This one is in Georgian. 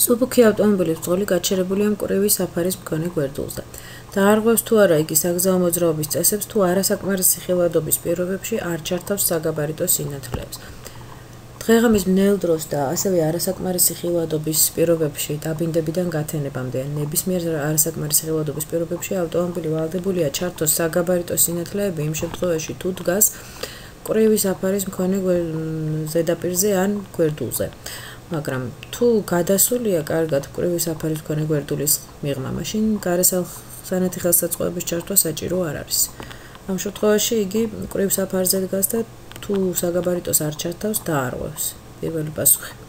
სუბუქი ავტომობილის ბრძოლი გაჩერებულია მკვრივი საფარის მქონე გვერდულზე. დაარღვევს თუ არა იგი საგზაო მოძრაობის წესებს თუ არასაკმარისი ხილვადობის პირობებში არ ჩართავს საგაბარიტო სინათლეებს. დღეღამის ბნელ დროს და ასევე არასაკმარისი ხილვადობის პირობებში დაბინდებიდან გათენებამდე ან ნებისმიერ არასაკმარისი ხილვადობის პირობებში ავტომობილი ვალდებულია ჩართოს საგაბარიტო სინათლეები იმ შემთხვევაში თუ დგას მკვრივი საფარის მქონე ზედაპირზე ან გვერდულზე. მაგრამ თუ გადასულია კარგად მკვრივი საფარის მქონე გვერდულის მიღმა, მაშინ გარესახსანეთი ხელსაწყოების ჩართვა საჭირო არ არის. ამ შემთხვევაში იგი მკვრივ საფარზე დგას და თუ საგაბარიტოს არ ჩართავს, დაარღვევს. პირველი პასუხი.